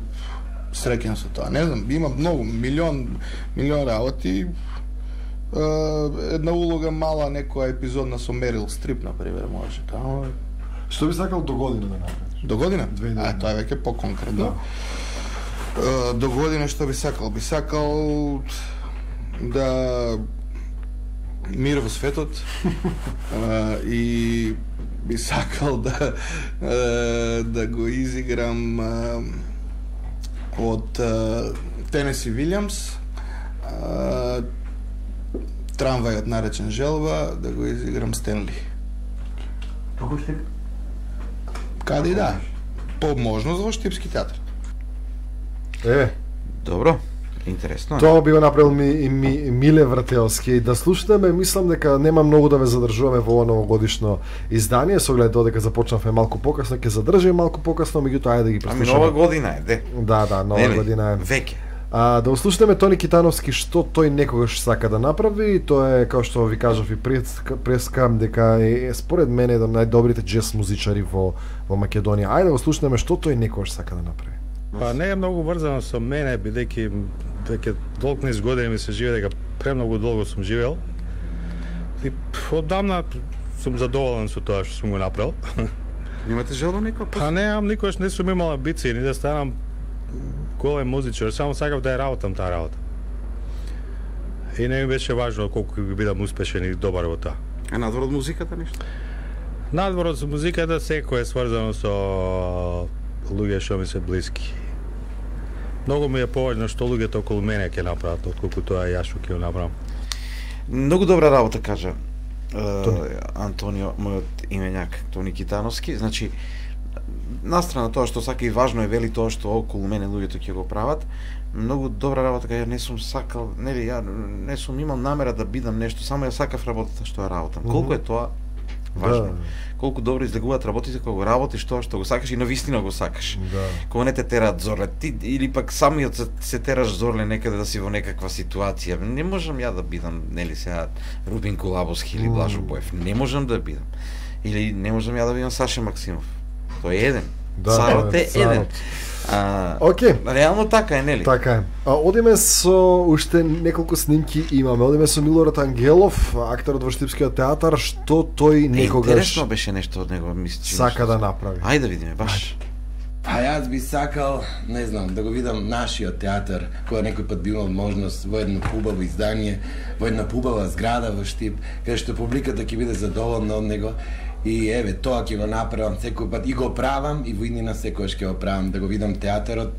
среќен со тоа. Не знам, има многу, милион, милион работи. Една улога мала, некоја епизодна со Мерил Стрип, например, може. Тамо... Што би сакал до година да направиш? До година? А, тоа е веќе по-конкретно. Да. До година што би сакал? Би сакал да мир во светот и би сакал да да го изиграм од Тенеси Вилјамс, Трамвајот наречен желба, да го изиграм Стенли. Како штип? Каде и да. По можност во Штипски театар. Е, добро. Интересно. Тоа би го направил ми, ми Миле Врателски. Да слушнеме, мислам дека нема многу да ве задржуваме во ова новогодишно издание, со оглед додека започнавме малку покасно, ќе задржиме малку покасно, меѓутоа ајде да ги преслушаме. Ами нова година е, де. Да, да, нова Нели? година е. Веќе. А, да услушнеме Тони Китановски што тој некогаш сака да направи. Тоа е, како што ви кажав и преска, дека е според мене еден од најдобрите джез музичари во во Македонија. Ајде да го слушнеме што тој некогаш сака да направи. Па не е многу врзано со мене, бидејќи веќе долг низ години ми се живее, дека премногу долго сум живеел. И оддамна сум задоволен со тоа што сум го направил. Имате желба некој? Па немам, никогаш не сум имал амбиции ни да станам голем музичар, само сакав да ја работам таа работа. И не ми беше важно колку ќе бидам успешен и добар во тоа. А надвор од музиката нешто? Надвор од музиката секој е сврзано со луѓе што ми се блиски. Многу ми е поважно што луѓето околу мене ќе направат, отколку тоа јас што ќе го направам. Многу добра работа кажа uh, Антонио, мојот именјак, Тони Китановски. Значи, настрана тоа што сака и важно е вели тоа што околу мене луѓето ќе го прават. Многу добра работа, кај ја не сум сакал, нели ја не сум имал намера да бидам нешто, само ја сакав работата што ја работам. Mm-hmm. Колку е тоа важно. Да. Колку добро излегуваат работите кога го работиш тоа што го сакаш и навистина го сакаш. Да. Кога не те тераат зорле, ти или пак самиот се, се тераш зорле некаде да си во некаква ситуација. Не можам ја да бидам, нели сега Рубин Кулабовски или Блажо Боев. Не можам да бидам. Или не можам ја да бидам Саша Максимов. Тој е еден. Да, Царот е царот. еден. А, Океј. Реално така е, нели? Така е. А, одиме со уште неколку снимки имаме. Одиме со Милорад Ангелов, актерот во Штипскиот театар, што тој некогаш Интересно беше нешто од него, мислам. сака да направи. Ајде да видиме, баш. Па јас би сакал, не знам, да го видам нашиот театар, кога некој пат би имал можност во едно хубаво издание, во една хубава зграда во Штип, каде што публиката ќе биде задоволна од него. И еве, тоа ќе го направам секој пат и го правам и во иднина секогаш ќе го правам, да го видам театарот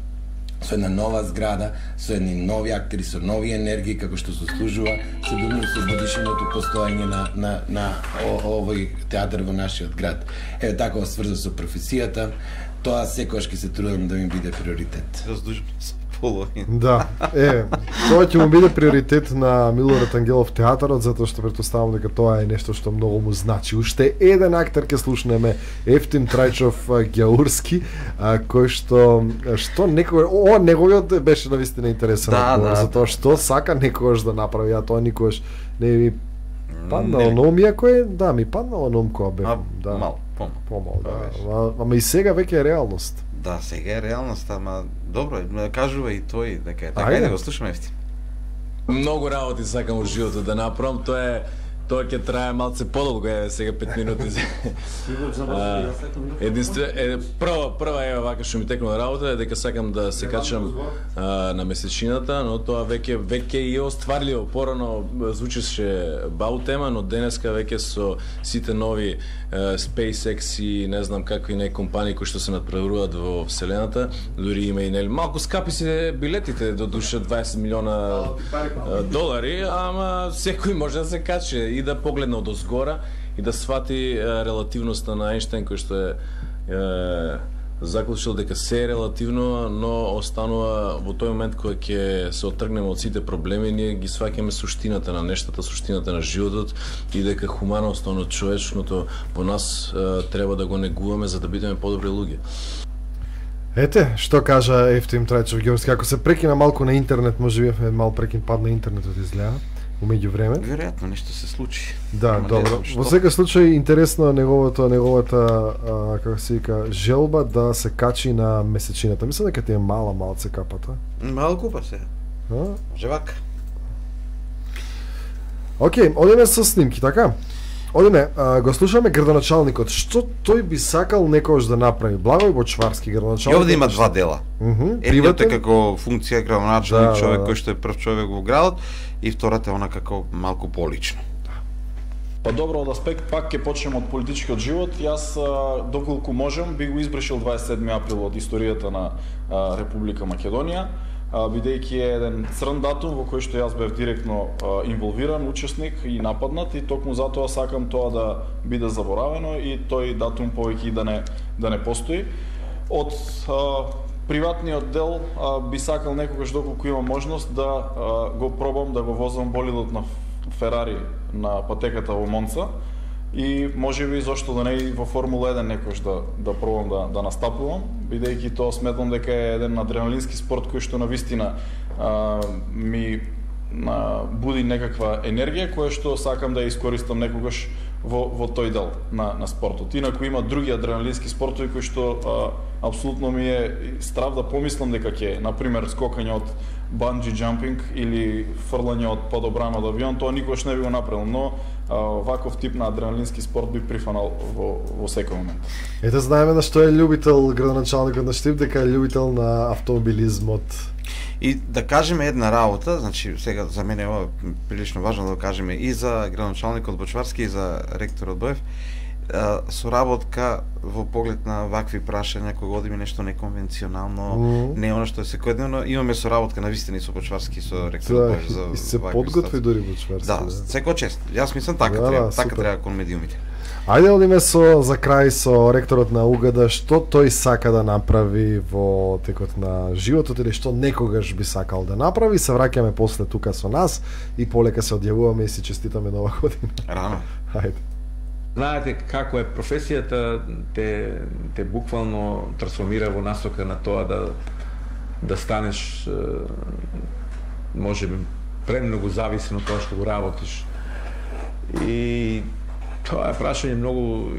со една нова зграда, со едни нови актери, со нови енергии, како што заслужува, се думам со годишното постоење на, на, на о, овој театар во нашиот град. Еве, така сврза со професијата, тоа секогаш ќе се трудам да ми биде приоритет. Раздужно се половина. Да, е, тоа ќе му биде приоритет на Милорад Ангелов театарот, затоа што претпоставам дека тоа е нешто што многу му значи. Уште еден актер ќе слушнеме, Ефтим Трајчов Ѓаурски, а, кој што што некој о неговиот беше навистина интересен Да, одговор, да, затоа да. што сака некогаш да направи, а тоа никогаш не ми паднало на ум, иако е, да, ми паднало на ум кога бев, А, да. мал, помал. Помал, да. беше. Ама, ама и сега веќе е реалност. Да, сега е реалност, ама добро, кажува и тој дека е така. Ајде. Ајде да го слушаме, Ефтим. Многу работи сакам во животот да направам, тоа е тоа ќе трае малце подолго, е сега пет минути. А, Единствено е прва прва е вака што ми текнува работа е дека сакам да се качам а, на месечината, но тоа веќе веќе е остварливо. Порано звучеше бау тема, но денеска веќе со сите нови а, SpaceX и не знам какви не компании кои што се надпреваруваат во вселената, дури има и нели малку скапи се билетите, до душа дваесет милиона а, долари, ама секој може да се качи и да погледне од озгора и да свати е, релативноста на Ајнштајн, кој што е, е заклучил дека се е релативно, но останува во тој момент кога ќе се отргнеме од сите проблеми, ние ги сваќаме суштината на нештата, суштината на животот и дека хуманоста, оно човечното во нас е, треба да го негуваме за да бидеме подобри луѓе. Ете, што кажа Ефтим Трајчов Ѓаурски, ако се прекина малку на интернет, може би е мал прекин пад на интернетот изгледа. у меѓувреме. Веројатно нешто се случи. Да, Ама добро. не знам Во што. секој случај интересно е неговото неговата а, како се вика желба да се качи на месечината. Мислам дека ти е мала малце капата. Малку па се. А? Може вака. Океј, одиме со снимки, така? Одиме, а, го слушаме градоначалникот. Што тој би сакал некогаш да направи? Благој Бочварски, И градоначалник. овде има два дела. Мгм. Едниот е Приватен? како функција градоначалник, Да, човек да, да. кој што е прв човек во градот, и втората е она како малку полично. Па добро, од аспект пак ќе почнем од политичкиот живот. Јас а, доколку можам би го избрашил дваесет и седми април од историјата на а, Република Македонија, а, бидејќи е еден црн датум во кој што јас бев директно а, инволвиран, учесник и нападнат, и токму затоа сакам тоа да биде заборавено и тој датум повеќе и да не да не постои. Од а, приватниот дел а, би сакал некогаш доколку имам можност да а, го пробам да го возам болидот на Ферари на патеката во Монца, и можеби зошто да не и во Формула еден некош да да пробам да да настапувам, бидејќи тоа сметам дека е еден адреналински спорт кој што навистина а, ми а, буди некаква енергија која што сакам да ја искористам некогаш во во тој дел на на спортот. Инаку има други адреналински спортови кои што а, апсолутно ми е страв да помислам дека ќе, на пример, скокање од банджи джампинг или фрлање од подобран од авион, тоа никогаш не би го направил, но а, ваков тип на адреналински спорт би прифанал во во секој момент. Ете, знаеме на што е љубител градоначалникот на Штип, дека е љубител на автомобилизмот. И да кажеме една работа, значи сега за мене ова прилично важно да го кажеме и за градоначалникот Бочварски и за ректорот Боев, соработка во поглед на вакви прашања кога одиме нешто неконвенционално, Mm. не она што е секојдневно, имаме соработка навистина и со Бочварски и со ректорот Да, Боев за и се вакви подготви ситуации. дури Бочварски. Да, секој чест. Јас мислам така Да, треба, да, така супер. треба кон медиумите. Ајде одиме со за крај со ректорот на УГД, што тој сака да направи во текот на животот или што некогаш би сакал да направи. Се враќаме после тука со нас и полека се одјавуваме и си честитаме нова година. Рано. Ајде. Знаете како е професијата, те, те буквално трансформира во насока на тоа да да станеш е, може би премногу зависен од тоа што го работиш. И тоа е прашање многу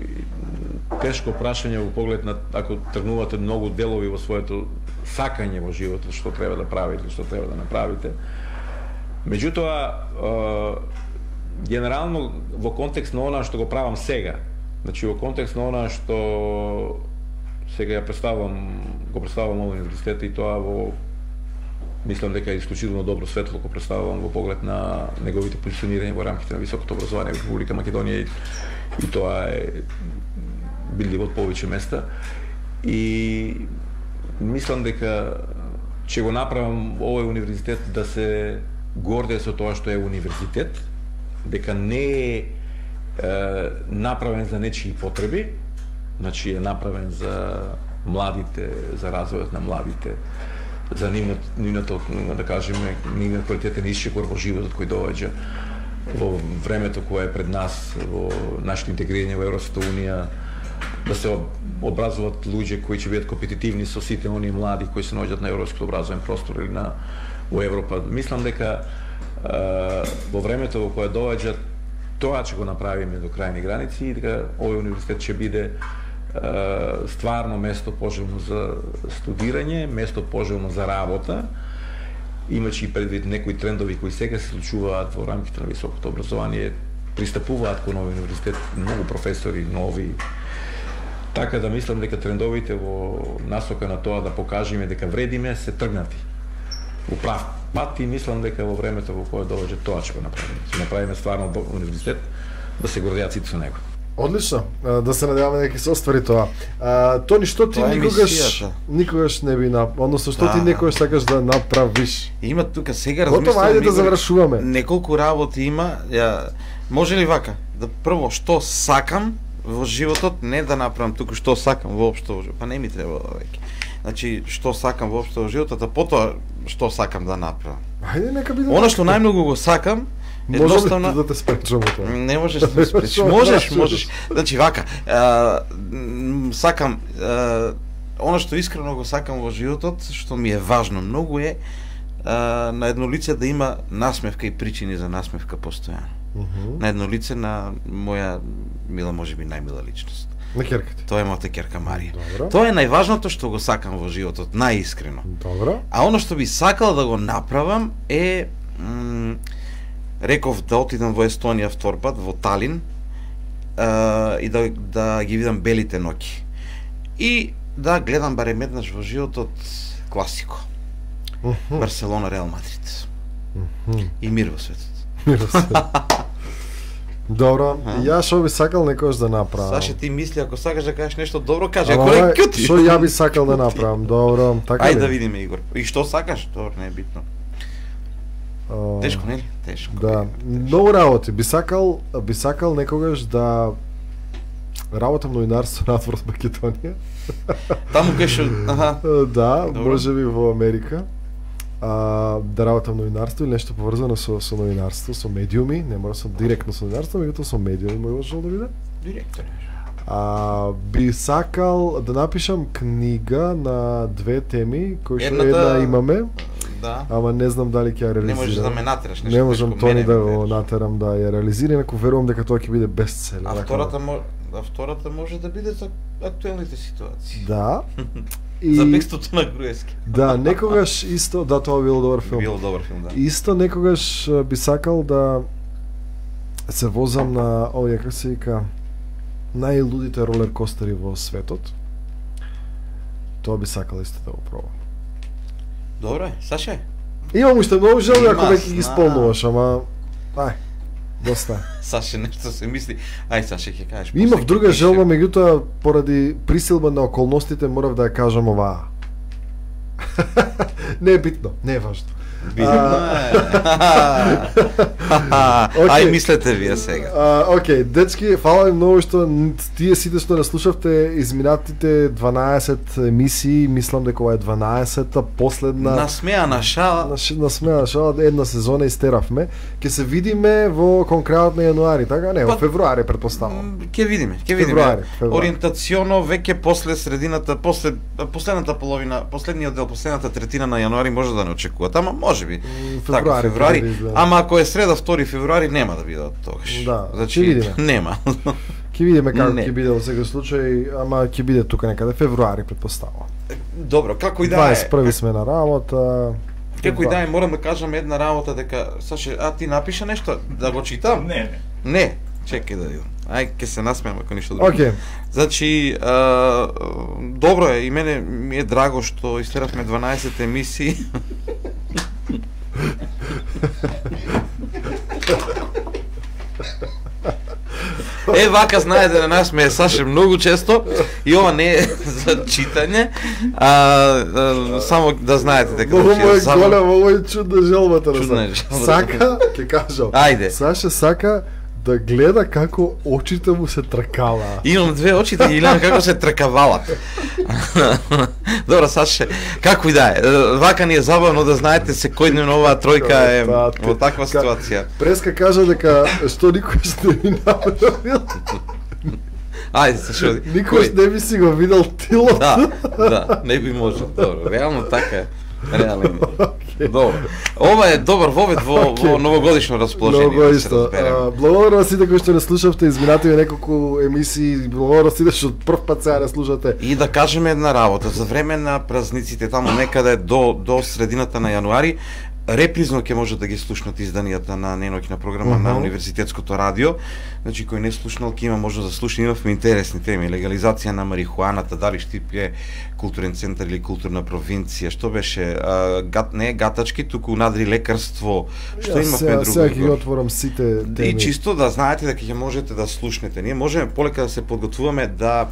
тешко прашање во поглед на ако тргнувате многу делови во своето сакање во животот, што треба да правите, што треба да направите. Меѓутоа, е, генерално во контекст на она што го правам сега, значи во контекст на она што сега ја представам, го представам овој универзитет, и тоа во мислам дека е исклучително добро светло го представам во поглед на неговите позиционирање во рамките на високото образование во Република Македонија, и, и тоа е бидливо од повеќе места. И мислам дека ќе го направам овој универзитет да се горде со тоа што е универзитет, дека не е, е направен за нечии потреби, значи е направен за младите, за развојот на младите, за нивното, нивното да кажеме, нивниот квалитетен исчекор во животот кој доаѓа во времето кое е пред нас, во нашето интегрирање во Европската унија, да се образуваат луѓе кои ќе бидат компетитивни со сите оние млади кои се наоѓаат на европскиот образовен простор или на во Европа. Мислам дека Uh, во времето во кое доаѓа, тоа ќе го направиме до крајни граници, и дека овој универзитет ќе биде uh, стварно место пожелно за студирање, место пожелно за работа, имајќи и предвид некои трендови кои сега се случуваат во рамките на високото образование, пристапуваат кон овој универзитет многу професори нови. Така да мислам дека трендовите во насока на тоа да покажеме дека вредиме се тргнати во прав пат, и мислам дека во времето во кое доаѓа тоа ќе го направиме. Ќе направиме стварно универзитет да се гордеат сите со него. Одлично, да се надеваме дека ќе се оствари тоа. А, Тони, што ти Тоа е никогаш мисијата. никогаш не би на, односно што Да, ти да. некогаш сакаш да направиш? Има тука сега Готово, размислувам. ајде да Игор, завршуваме. Неколку работи има. Ја, може ли вака? Да прво што сакам во животот, не да направам туку што сакам воопшто во животот. Па не ми треба веќе. Значи што сакам воопшто во животот, а потоа што сакам да направам. Ајде нека биде. Она што најмногу го сакам, Може едноставно ли да те спречам од тоа? не можеш да ме спречиш. Што Можеш, значи? можеш. Значи вака, а, м, сакам а, она што искрено го сакам во животот, што ми е важно многу е а, на едно лице да има насмевка и причини за насмевка постојано. Uh -huh. На едно лице на моја мила, можеби најмила личност. На керката. Тоа е мојата керка Марија. Добро. Тоа е најважното што го сакам во животот, најискрено. Добро. А оно што би сакал да го направам е м, реков да отидам во Естонија втор пат, во Талин, а, и да, да ги видам белите ноќи. И да гледам барем еднаш во животот класико. Uh -huh. Барселона, Реал Мадрид. Uh -huh. И мир во светот. Мир во светот. Добро, ја што би сакал некојаш да направам. Саше, ти мисли, ако сакаш да кажеш нешто добро, кажи, Ама, ако не ќути. Што ја би сакал да направам, добро, така Ајде ли? да видиме, Игор. И што сакаш? Добро, не е битно. А, Тешко, нели? Тешко. Да, многу работи. Би сакал, би сакал некогаш да работам новинарство надвор од Македонија. Таму кај што, аха. Да, Добро. можеби во Америка. А, да работам новинарство или нешто поврзано со со новинарство, со медиуми, не мора со директно со новинарство, меѓутоа со медиуми може да биде. Директор. А, би сакал да напишам книга на две теми кои што Едната- една имаме. Да. Ама не знам дали ќе ја реализирам. Не можеш да ме натераш, нешто Не можам тешко, Тони мене да ме го тераш. натерам да ја реализира, инаку верувам дека тоа ќе биде бестселер. А Така втората мо... а втората може да биде за актуелните ситуации. Да. За бегството на Груевски. Да, некогаш исто, да, тоа било добар филм. Било добар филм, да. Исто некогаш а, би сакал да се возам на овие како се вика најлудите ролер костери во светот. Тоа би сакал исто да го пробам. Добро е, Саше. Имам уште многу желби ако Има, веќе ги знам. исполнуваш, ама ај, доста. Саше нешто се мисли. Ај, Саше ќе кажеш. Имав после ќе друга пише. желба, меѓутоа поради присилба на околностите морав да ја кажам оваа. Не е битно, не е важно. Битно е. Ај, мислете вие сега. А, окей, дечки, фала ви многу што н- тие сите што не слушавте изминатите дванаесет емисии, мислам дека ова е дванаесета последна Насмеана шала. на, ш- на смеа шала, една сезона истеравме. Ќе се видиме во конкретно на јануари, така? Не, во Па- февруари претпоставам. Ќе видиме, ќе видиме. Февруари, февруари. Ориентационо веќе после средината, после последната половина, последниот дел, последната третина на јануари може да не очекувате, ама можеби. февруари Така, февруари. ќе изгледа. Ама ако е среда втори февруари нема да бидат тогаш. Да, значи ќе видиме. нема. Ќе видиме како Не. ќе биде во секој случај, ама ќе биде тука некаде февруари претпоставам. Добро, како и да е. дваесет и први сме на работа. Како и да е, морам да кажам една работа дека Саше, а ти напиша нешто да го читам? Не, не. Не, чекај да видам. Ај, ќе се насмеам ако ништо друго. Океј. Значи, а, добро е, и мене ми е драго што истеравме дванаесет емисии. Е, вака знаете на нас ме е Саше многу често и ова не е за читање, а, а само да знаете дека Многу значи, му е само- голема, ovo е чудна желбата на Чудна е Саша. желбата. Сака, ќе кажам. Ајде. Саша сака да гледа како очите му се тркала. Имам две очи да ги гледам како се тркавалат. Добро, Саше, како и да е. Вака ни е забавно да знаете секојдневно оваа тројка е Тате. во таква ситуација. Преска кажа дека што никош не би направил. Ајде, Саше. Никош кој- не би си го видел тилото. Да, да, не би можел. Добро, реално така е. Реално. Добро. Ова е добар вовед во, во новогодишно расположение. Многу да се исто. разбереме. А, Благодарам на сите кои што не слушавте изминативе неколку емисии, благодарам на сите што од прв пат сега не слушате. И да кажеме една работа, за време на празниците таму некаде до до средината на јануари, репризно ќе може да ги слушнат изданијата на неноќна програма на Мгм. Универзитетското радио. Значи кој не слушнал ќе има можност да слушне, имавме интересни теми, легализација на марихуаната, дали Штип е културен центар или културна провинција, што беше а, гат, не гатачки, туку надри лекарство, што Ја, имавме сега, друго. сега ќе ги отворам сите теми. И чисто да знаете дека ќе можете да слушнете. Ние можеме полека да се подготвуваме да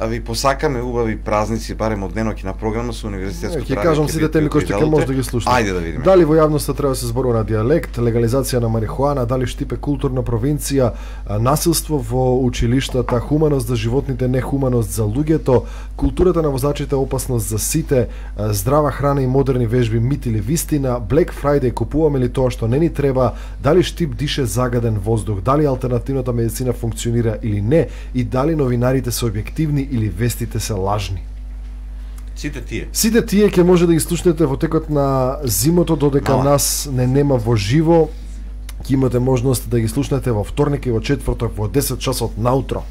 а ви посакаме убави празници, барем од деноќна програма со Универзитетското Ќе радио. кажам ќе сите бидете теми кои што ќе придалите. може да ги слушнете. Ајде да видиме. Дали во јавноста треба да се зборува на дијалект, легализација на марихуана, дали Штип е културна провинција, а, насилство во училиштата, хуманост за животните, нехуманост за луѓето, културата на возачите е опасност за сите, а, здрава храна и модерни вежби, мит или вистина, Black Friday, купуваме ли тоа што не ни треба, дали Штип дише загаден воздух, дали алтернативната медицина функционира или не, и дали новинарите се објективни или вестите се лажни. Сите тие. Сите тие ќе може да ги слушнете во текот на зимото додека Мала. нас не нема во живо. Ќе имате можност да ги слушнете во вторник и во четврток во десет часот наутро.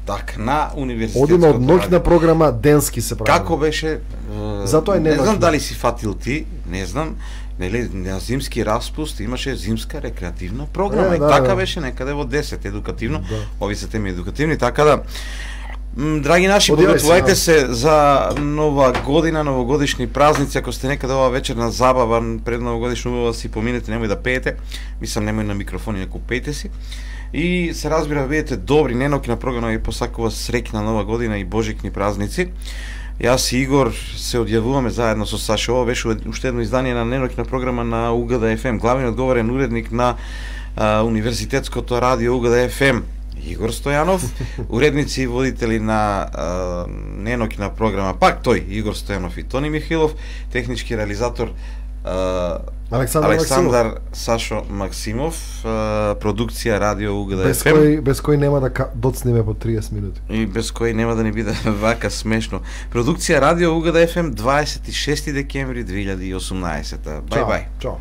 Така, на универзитетското Одиме од ноќна радио. програма денски се прави. Како беше? е, Затоа и не не знам ноќна. дали си фатил ти, не знам. Нели на зимски распуст имаше зимска рекреативна програма Е, и да, така да. беше некаде во десет едукативно. Да. Ови се теми едукативни, така да м, драги наши, Одивај подготвувајте се, се за нова година, новогодишни празници. Ако сте некаде ова вечерна забава пред новогодишно, убаво си поминете, немој да пеете. Мислам, немој на микрофони, ако пеете си. И се разбира, бидете добри, неноќна програма ви посакува среќна нова година и божикни празници. Јас и Игор се одјавуваме заедно со Сашо. Ова беше уште едно издание на неноќна програма на УГД еф ем. Главниот говорен уредник на а, Универзитетското радио УГД еф ем Игор Стојанов, уредници и водители на а, неноќна програма, пак тој, Игор Стојанов и Тони Михилов, технички реализатор а, Александар, Александар Сашо Максимов, а, продукција радио УГД без еф ем. кој без кој нема да ка- доцнеме по триесет минути. И без кој нема да ни биде вака смешно. Продукција радио УГД еф ем дваесет и шести декември две илјади и осумнаесета. Бај Чао, бај. Чао.